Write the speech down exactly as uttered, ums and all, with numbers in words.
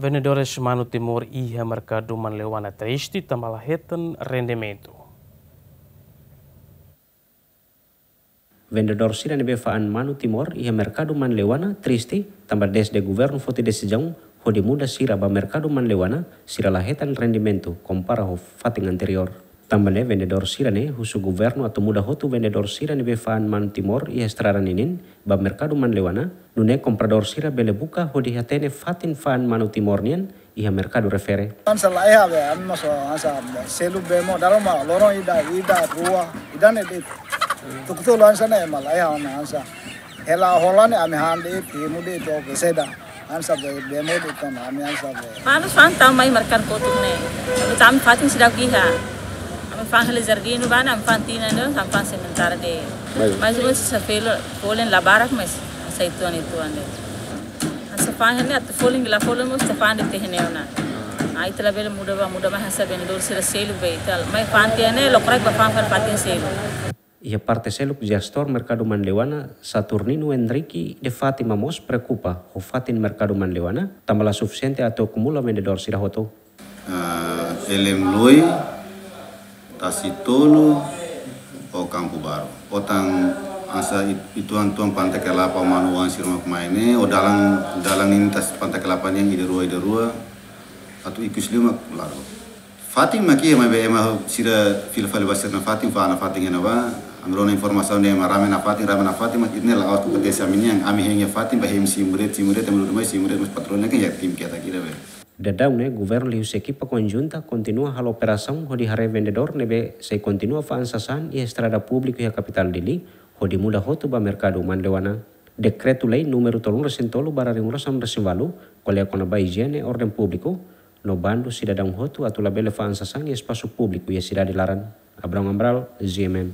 Vendedores manu Timor iha merkadu Manleuana triste tanba la hetan rendimentu. Vendedór sira ne'ebé fa'an manu Timor iha merkadu Manleuana triste tanba dezde governu foti desizaun hodi muda sira ba merkadu Manleuana, sira la hetan rendimentu kompara ho fatin anteriór. Tanba ne'e vendedór sira-ne'e husu governu atu muda hotu vendedór sira ne'ebé fa'an manu Timor iha estrada ninin ba merkadu Manleuana, nune'e kompradór sira bele buka hodi hatene fatin fa'an manu Timor nian iha merkadu refere. Hanesan la iha be, ami mós hanesan be, selu bee mós dala ruma loron ida, ida, rua, ida-ne'e de'it. Tuku tolu hanesan ne'e ema la iha ona hanesan. Hela hola ne'e ami han de'it, imu de'it, oke, seda. Hanesan be, bee mós de'it ona, ami hanesan be. Manu fa'an tau mai merkadu kotuk ne'e. Ami tau ami fatin seidauk iha. Ami fa'an hela jardín bá ne'e, ami fa'an tinan de'it, ami fa'an sementara de'it. Baik. Mais ou menos se felo, folin la barak, mais sai tuan itu ande. Hanesan fa'an ne'e atu folin, la folin mós atu fa'an de'it iha ne'e ona. Ai ita labele muda bá, muda mai hanesan vendedór sira selu be ita. Mai fa'an tiha ne'e, lokraik bá fa'an fa'an fatin selu. Iha parte seluk, jestór merkadu Manleuana, Saturnino Henrique de Fátima mós preokupa ho fatin merkadu Manleuana, tanba la sufisiente atu akumula vendedór sira hotu. Ah, Elem Loi, Tasi Tolu, ho Kampu Baru. Ho tan hanesan it-, ituan-tuan Panta Kelapa manu oan sira mak mai ne'e, ho dalan, dalan ninin tasi Panta Kelapa nian ida rua, ida rua, atu ikus liu mak larga. Fatin mak iha, maibé ema sira fila fali ba sira-nia fatin, fa'an ona fatin iha ne'ebá, ami rona informasaun dehan ema rame ona fatin, rame ona fatin, mas ida-ne'e la'ós kompetisi ami-nian, ami hein iha fatin, bá hein simu de'it, simu de'it, ami dudu mai simu de'it, mas patron ne'e kan iha tim ketak ida be. Daudaun ne'e, governu liuhusi ekipa konjunta kontinua halo operasaun hodi haree vendedór ne'ebé sei kontinua fa'an sasán iha estrada públiku iha kapitál Dili, hodi muda hotu ba merkadu Manleuana. Dekretu-lei númeru tolunulu-resin-tolu barra rimolusan-resin-ualu, ko'alia kona-ba ijiene, orden públiku, no bandu sidadaun hotu atu labele fa'an sasán iha espasu públiku iha sidade laran. Abrão Amaral, G M N.